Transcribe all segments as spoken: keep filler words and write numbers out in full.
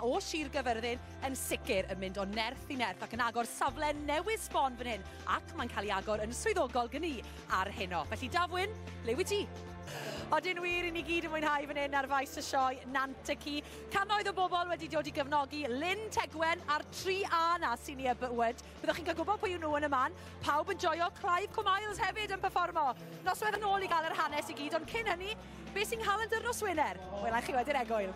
o Sir Gaerfyrddin yn sicr yn mynd o nerth i nerth ac yn agor safle newydd sbon fan hyn, ac mae'n cael ei agor yn swyddogol gen i ar heno. Felly Dafwyn, le wyt ti? Odyn wir, i ni gyd yn mwynhau fan hyn ar faes y sioe Nant y Ci. Cannoedd o bobl wedi dod i gefnogi Lynn Tegwen a'r tri A na sy'n ei bywyd. Byddwch chi'n cael gwybod pwy yw nhw yn y man. Pawb yn joio. Clive Commiles hefyd yn performo. Noswaith yn ôl i gael yr hanes i gyd, ond cyn hynny, beth sy'n nghalendr nos Wener? Wela chi wedi'r egwyl.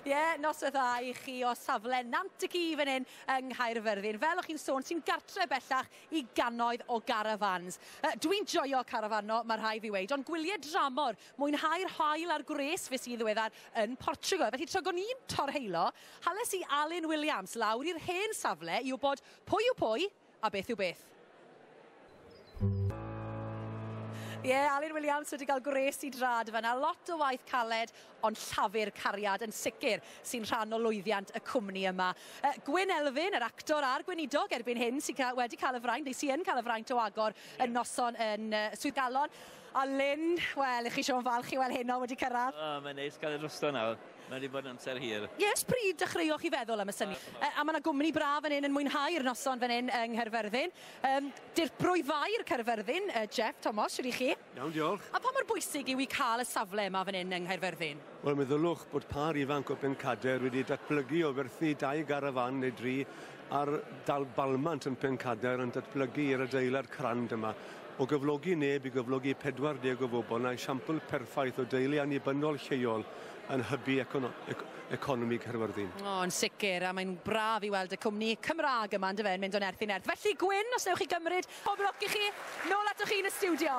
Ie, yeah, noswaith dda i chi o safle Nant y Ci fan hyn yng Nghaerfyrddin. Fel o'ch chi'n sôn, sy'n gartre bellach i gannoedd o garafans. Uh, Dwi'n joio carafano, mae rhai fi weid, ond gwyliau dramor, mwynhau'r haul a'r gwres fes i ddiweddar yn Portugal. Felly tra o'n i'n torheilo, hales i Alun Williams lawr i'r hen safle i wybod pwy yw pwy a beth yw beth. Ie, yeah, Alun Williams wedi cael gwres i drad fan'na. Lot o waith caled, ond llafur cariad yn sicr sy'n rhan o lwyddiant y cwmni yma. Uh, Gwyn Elfyn, yr actor a'r gweinidog erbyn hyn, sy'n ca wedi cael y fraint, neu sy'n cael y fraint o agor y noson yn uh, Swydd Galon. A Lynn, wel, i chi Siôn falch i weld heno wedi cyrraedd. O, oh, mae'n neis cael ei drosto nawr. Mae wedi bod yn amser hir. Yes, pryd dechreuoch chi feddwl am y syniad? Uh, a mae yna gwmni braf fan hyn yn mwynhau'r noson fan hyn yng Nghaerfyrddin. Um, Dirprwy Faer Caerfyrddin, uh, Jeff Thomas, siwr i chi? Iawn, diolch. A pa mor bwysig yw i cael y safle yma fan hyn yng Nghaerfyrddin? Wel, meddylwch bod par ifanc o Bencader wedi datblygu o werthu dau garafan neu dri ar dal balmant yn Pencader yn datblygu i'r adeilad crand yma. O gyflogi neb i gyflogi pedwar deg o bobl, na esiampl perffaith o deulu annibynnol lleol yn hybu econo economi Caerfyrddin. O, yn sicr, a mae'n braf i weld y cwmni Cymraeg yma, yndyfe, yn mynd o nerth i nerth. Felly, Gwyn, os newch chi gymryd, pob lwc i chi, nôl atoch chi yn y stiwdio.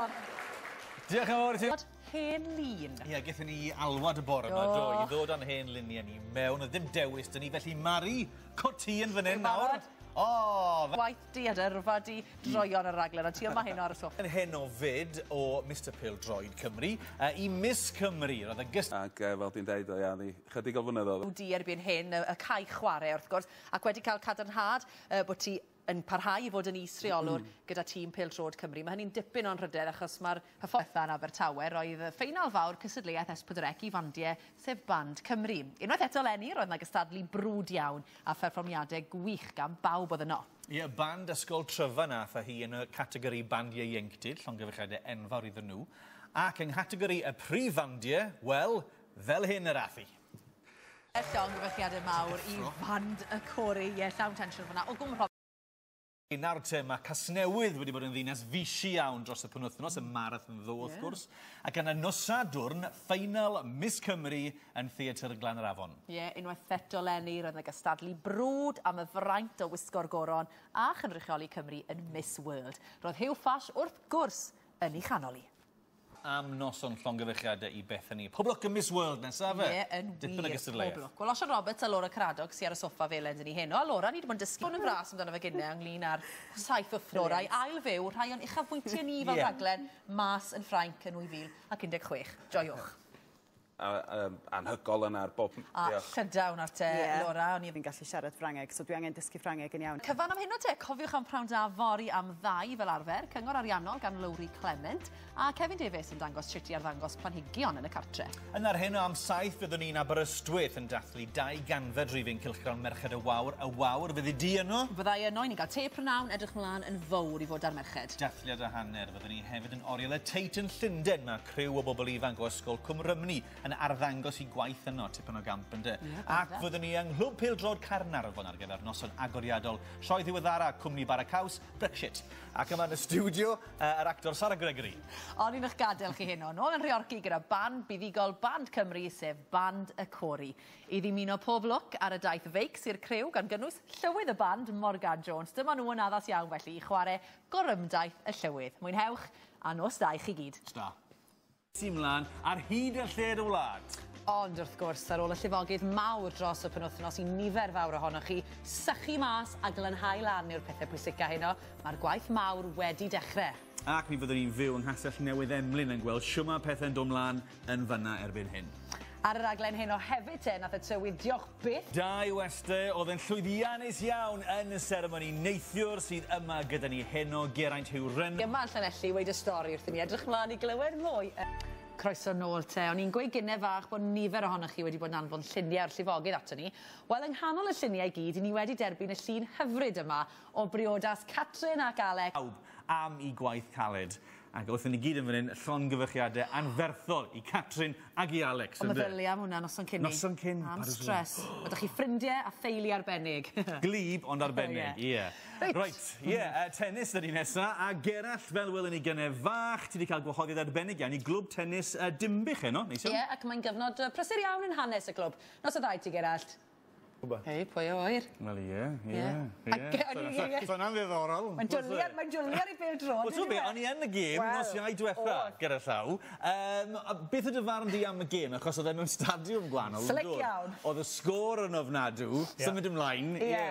Diolch yn fawr i ti. Hen lun. Ie, gaethon ni alwad y bore yma, do, i ddod â'n hen luniau ni mewn. Oedd ddim dewis dyn ni, felly Mari Cotîn fan hyn nawr. O! Waith di a dyrfa di droion y raglen, ond ti yma heno ar y soffa. Yn hyn o fyd o Mister Pêl-droed Cymru uh, i Miss Cymru. Roedd y gyst... Ac uh, fel ti'n deud, o ia, ni chydig o flynyddoedd. Di erbyn hyn, y, y cae chwarae wrth gwrs, ac wedi cael cadarnhad uh, bod ti yn parhau i fod yn is-reolwr mm. gyda tîm Pêl-droed Cymru. Mae hynny'n dipyn o'n rhydedd achos mae'r hyfforddfa yn Abertawe roedd ffeinal fawr cystadleuaeth S pedwar C i fandiau, sef Band Cymru. Unwaith eto eleni, roedd yna gystadlu brwd iawn a pherfformiadau gwych gan bawb oedd yno. Ie, band Ysgol Tryfan ath â hi yn y categori bandiau ieuenctid, llongyfarchiadau enfawr iddyn nhw, ac yng nghategori y prif fandiau, wel, fel hyn yr ath hi. Llongyfarchiadau mawr i Fand y Cori, ie, llawn tensiwn fyna. O Gwmrhob. Nawr te, mae Casnewydd wedi bod yn ddinas fishi iawn dros y penwythnos, y marathon ddo, wrth yeah. gwrs. Ac yna nos Sadwrn, ffeinal Miss Cymru yn Theatr Glan yr Afon. Ie, yeah, unwaith eto eleni, roedd yna gystadlu brwd am y fraint o wisgo'r goron a chynrychioli Cymru yn Miss World. Roedd Huw Ffash wrth gwrs yn ei chanol hi. Am noson llongyfarchiadau i Bethany. Pob lwc yn Miss World nesaf fe. Ie, yn wir. Pob lwc. Wel, Osian Roberts a Laura Caradog sy ar y soffa felen dyn ni heno. A Laura, ni wedi bod yn dysgu yn fras amdano fe gynne ynglyn â'r saith wythnos i ail fyw rhai o'n uchafbwyntiau ni fel yeah. rhaglen mas yn Ffrainc yn nwy fil ac un deg chwech. Joiwch. A, um, anhygol yna ar bob... A Llydaw nawr te, yeah. Laura. O'n i fi'n gallu siarad Ffrangeg, so dwi angen dysgu Ffrangeg yn iawn. Cyfan am hyn o te, cofiwch am prawn da fory am ddau fel arfer, cyngor ariannol gan Lowri Clement, a Kevin Davies yn dangos sut i arddangos planhigion yn y cartre. Yna'r hyn o am saith fyddwn ni'n Aberystwyth yn dathlu dau ganfed rhifyn cylchgrawn Merched y Wawr. Y Wawr, fyddi di yno? Fyddai yno, i ni'n cael te prynawn, edrych mlaen yn fawr i fod ar merched. Dathliad a hanner, fyddwn ni hefyd yn oriel y Tate yn Llundain. Mae criw o bobl ifanc o Ysgol Cwm Rhymni yn arddangos i gwaith yno, tipyn o gamp ynde. Yeah, ac fyddwn ni yng Nghlwb Pêl-droed Caernarfon ar gyfer noson agoriadol sioe ddiweddara cwmni Bara Caws, Brexit. Ac yma yn y stiwdio, uh, yr actor Sara Gregory. O'n i'n eich gadael chi heno. Nôl yn Nhreorci gyda band buddugol Band Cymru, sef Band y Cori. I ddymuno pob lwc ar y daith feics i'r criw gan gynnwys llywydd y band, Morgan Jones. Dyma nhw yn addas iawn felly i chwarae gorymdaith y llywydd. Mwynhewch a nos da i chi gyd. Da. Mlaen ar hyd y lled y wlad. Ond wrth gwrs, ar ôl y llifogydd mawr dros y penwythnos i nifer fawr ohonoch chi, sychu mas a glanhau lan yw'r pethau pwysica heno. Mae'r gwaith mawr wedi dechrau. Ac mi fyddwn ni'n fyw yng Nghastell Newydd Emlyn yn gweld shwma pethau'n dod mlaen yn fanna erbyn hyn. Ar y raglen heno hefyd te, nath y tywydd, diolch byth. Dau weste oedd yn llwyddiannus iawn yn y seremoni neithiwr sydd yma gyda ni heno, Geraint Huw Ryn. Yma yn Llanelli, weud y stori wrthyn ni, edrych mlaen i glywed mwy. Croeso nôl te. O'n i'n gweud gynne fach bod nifer ohonoch chi wedi bod yn anfon lluniau o'r llifogydd ato ni. Wel, yng nghanol y lluniau i gyd, i ni wedi derbyn y llun hyfryd yma o briodas Catrin ac Alec. Pawb am i gwaith caled. Ac wrth i ni gyd yn fan hyn, llongyfarchiadau anferthol i Catrin ac i Alex. Ond meddylia am hwnna noson cyn ni. Noson cyn. Am stress. Ydych chi ffrindiau a theulu arbennig. Glib ond arbennig, ie. Reit. Reit, ie, tennis ydy nesa. A Gerallt, fel welwn ni gynne fach, ti wedi cael gwahoddiad arbennig iawn i glwb tennis uh, Dinbych heno, neis iawn? Ie, ac mae'n gyfnod prysur iawn yn hanes y clwb. Nos o ddau ti, Gerallt. Hei, pwy o oer? Wel, ie, ie. Ie. So yna'n ddiddorol. Mae'n dwlu ar, mae'n dwlu ar ei bêl-droed. Wel, ti'n be, o'n i yn y gêm nos Iau diwetha, gyda llaw. Um, beth ydy farn di am y gêm? Achos oedd e mewn stadiwm gwahanol. Slick iawn. Oedd y sgôr yn ofnadw, symud ymlaen. Ie.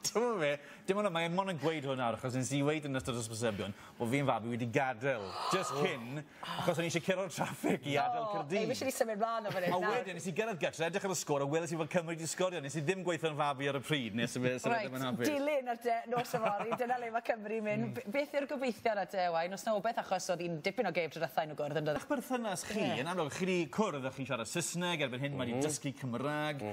Ti'n be, dim ond, mae'n mond yn gweud hwn nawr, achos nes i weud yn ystod hysbysebion bod fi'n fabi wedi gadael just cyn, achos o'n i eisiau curo'r traffic i adael Caerdydd. Ei, fi eisiau symud mlaen o fan hyn. A wedyn, nes i gyrraedd gytre, edrych ar y sgôr, a weles i fod Cymru wedi sgorio. Nes i ddim gweithio'n fabi ar y pryd, nes i fe ddim yn hapus. Dilyn ar de, nos yfory, dyna le mae Cymru'n mynd. Beth yw'r gobeithio ar te, Owain? Os na wbeth, achos oedd hi'n dipyn o gêm tro nhw gwrdd yn dod. Eich berthynas chi, yn amlwg, chi wedi cwrdd a chi'n siarad Saesneg, erbyn hyn mae wedi dysgu Cymraeg.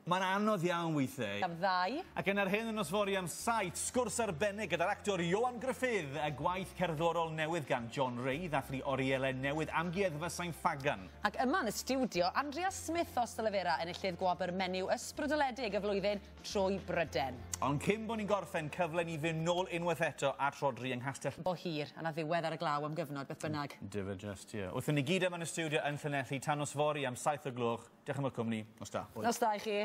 Mae'n anodd iawn weithiau. Am ddau. Ac yn ar hyn yn nos fory am saith, sgwrs arbennig gyda'r actor Ioan Gruffudd, y gwaith cerddorol newydd gan John Ray, ddathlu orielau newydd Amgueddfa Sain Ffagan. Ac yma yn y stiwdio, Andrea Smith o Stylefera enillydd gwobr menyw ysbrydoledig y flwyddyn trwy Bryden. Ond cyn bod ni'n gorffen, cyfle ni fynd nôl unwaith eto at Rodri yng Nghastell. Bo hir, a na ddiwedd ar y glaw am gyfnod, beth bynnag. Dyfa just, ie. Wrth i ni gyd yma yn y stiwdio yn Llanelli, tan nos fory am saith o gloch. Diolch am y cwmni. Nos da. Nos da i chi.